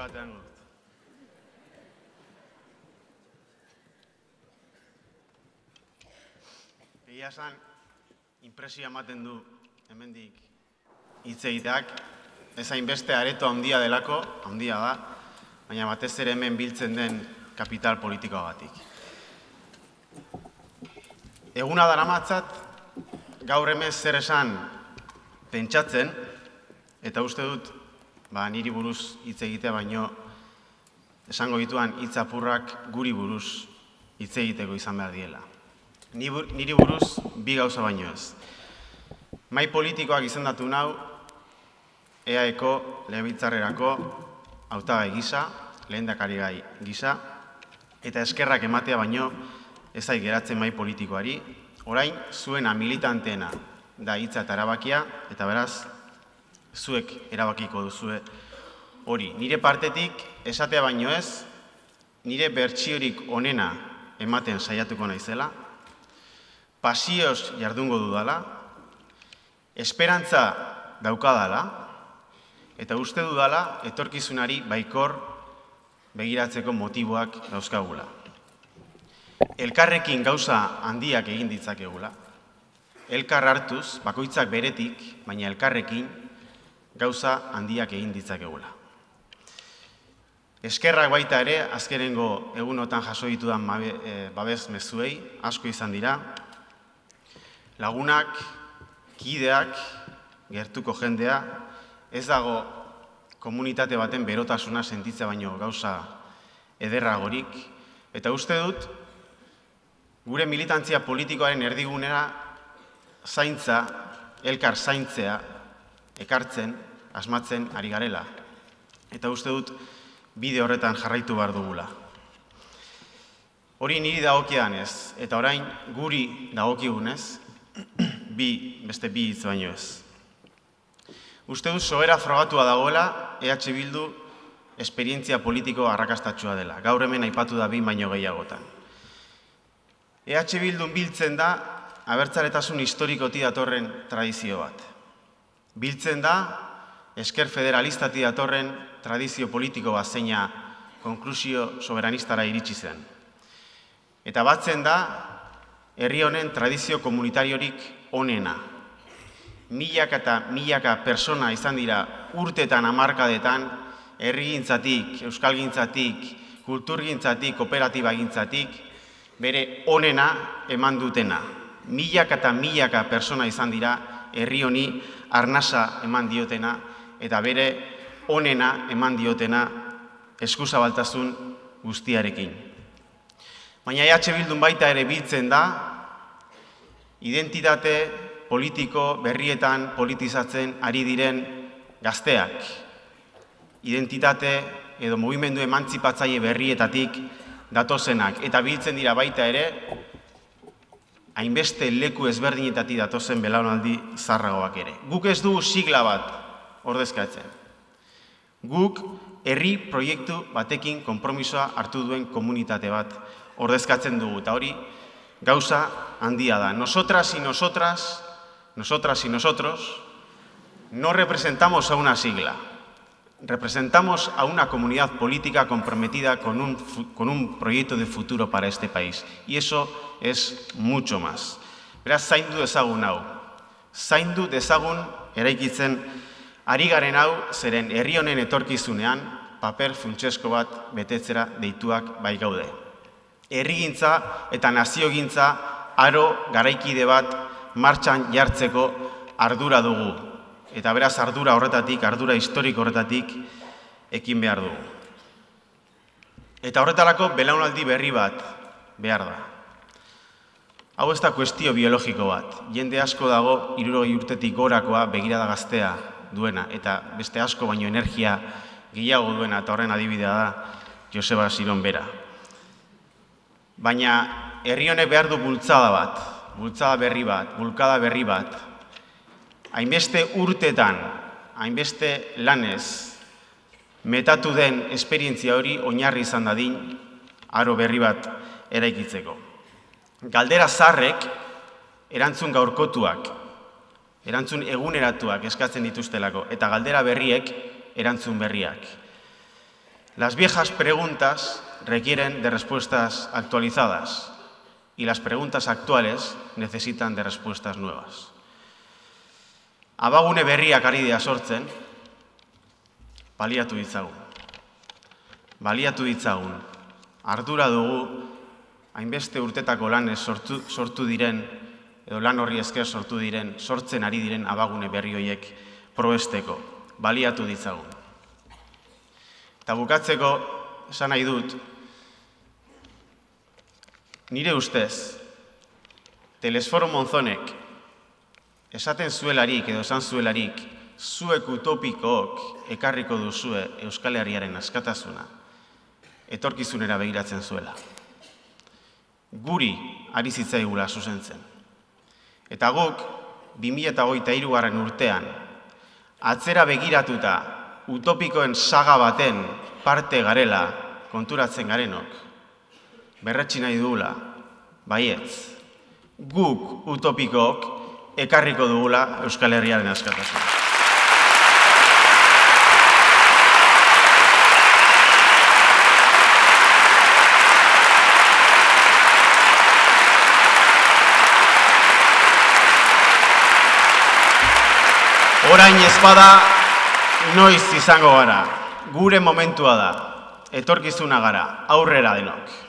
batean dut. Egia esan, inpresioa ematen du hemendik hitz egiteak, ez hainbeste areto handia delako, handia da, baina batez ere hemen biltzen den kapital politikoagatik. Eguna daramatzat, gaur hemen zer esan pentsatzen, eta uste dut, niri buruz hitz egitea baino, esango dituan hitz apurrak guri buruz hitz egiteko izan behar diela. Niri buruz bi gauza baino ez. Mahai politikoak izendatu nau, EAeko legebiltzarrerako hautagai gisa, lehendakari gai gisa, eta eskerrak ematea baino ez zait geratzen mahai politikoari, orain zuena militanteena da hitza eta erabakia, eta beraz, zuek erabakiko duzue hori. Nire partetik esatea baino ez, nire bertsiorik onena ematen saiatuko naizela, pasioz jardungo dudala, esperantza daukadala, eta uste dudala etorkizunari baikor begiratzeko motiboak dauzkagula. Elkarrekin gauza handiak egin ditzakegula, elkar hartuz, bakoitzak beretik, baina elkarrekin gauza handiak egin ditzakegula. Eskerrak baita ere, azkenengo egunotan jaso ditudan babes mezuei, asko izan dira, lagunak, kideak, gertuko jendea, ez dago komunitate baten berotasuna sentitzea baino gauza ederragorik, eta uste dut, gure militantzia politikoaren erdigunera zaintza, elkar zaintzea, ekartzen, asmatzen ari garela. Eta uste dut, bide horretan jarraitu behar dugula. Hori niri dagokidanez, eta orain guri dagokigunez, beste bi hitz baino ez. Uste dut sobera frogatua dagoela, EH Bildu esperientzia politiko arrakastatsua dela. Gaur hemen aipatu da behin baino gehiagotan. EH Bildun biltzen da, abertzaletasun historikotik datorren tradizio bat. Biltzen da, esker federalistati datorren tradizio politiko bat zeina konklusio soberanistara iritsi zen. Eta batzen da, herri honen tradizio komunitariorik onena. Milaka eta milaka persona izan dira urtetan, hamarkadetan, herrigintzatik, euskalgintzatik, kulturgintzatik, kooperatibagintzatik, bere onena eman dutena. Milaka eta milaka persona izan dira herri honi arnasa eman diotena, eta bere onena eman diotena eskuzabaltasun guztiarekin. Baina EH Bildun baita ere biltzen da, identitate politiko berrietan politizatzen ari diren gazteak. Identitate edo mugimendu emantzipatzaile berrietatik datozenak, eta biltzen dira baita ere, hainbeste leku ezberdinetatik datozen belaunaldi zarragoak ere. Guk ez dugu sigla bat ordezkatzen. Guk herri proiektu batekin konpromisoa hartu duen komunitate bat ordezkatzen dugu, eta hori gauza handia da. Nosotras y nosotros no representamos a una sigla, representamos a una comunidad política comprometida con un proyecto de futuro para este país. Y eso es mucho más. Beraz, zaindu dezagun hau. Zaindu dezagun eraikitzen ari garen hau, zeren herri honen etorkizunean paper funtsesko bat betetzera deituak bai gaude. Herrigintza eta naziogintza aro garaikide bat martxan jartzeko ardura dugu. Eta beraz ardura horretatik, ardura historiko horretatik ekin behar dugu. Eta horretarako belaunaldi berri bat behar da. Hau ez da kuestio biologiko bat. Jende asko dago 60 urtetik gorakoa begirada gaztea duena, eta beste asko baino energia gehiago duena, eta horren adibidea da Joseba Siron bera. Baina herri honek behar du bultzada bat, bultzada berri bat, bulkada berri bat, hainbeste urtetan, hainbeste lanez, metatu den esperientzia hori oinarri izan dadin, aro berri bat eraikitzeko. Galdera zaharrek, erantzun gaurkotuak, erantzun eguneratuak eskatzen dituztelako, eta galdera berriek, erantzun berriak. Las viejas preguntas requieren de respuestas actualizadas y las preguntas actuales necesitan de respuestas nuevas. Abagune berriak ari dira sortzen, baliatu ditzagun. Baliatu ditzagun. Ardura dugu, hainbeste urtetako lanez sortu diren, edo lan horri esker sortu diren, sortzen ari diren abagune berri horiek probesteko. Baliatu ditzagun. Eta bukatzeko, esan nahi dut, nire ustez, Telesforo Monzonek esaten zuelarik edo esan zuelarik, zuek utopikook ekarriko duzue Euskal Herriaren askatasuna, etorkizunera begiratzen zuela. Guri ari zitzaigula zuzentzen. Eta guk, 2023 urtean, atzera begiratuta utopikoen saga baten parte garela konturatzen garenok, berretsi nahi dugula, baietz, guk utopikook ekarriko dugula Euskal Herriaren askatasuna. Orain ezpada, noiz izango gara, gure momentua da, etorkizuna gara, aurrera denok.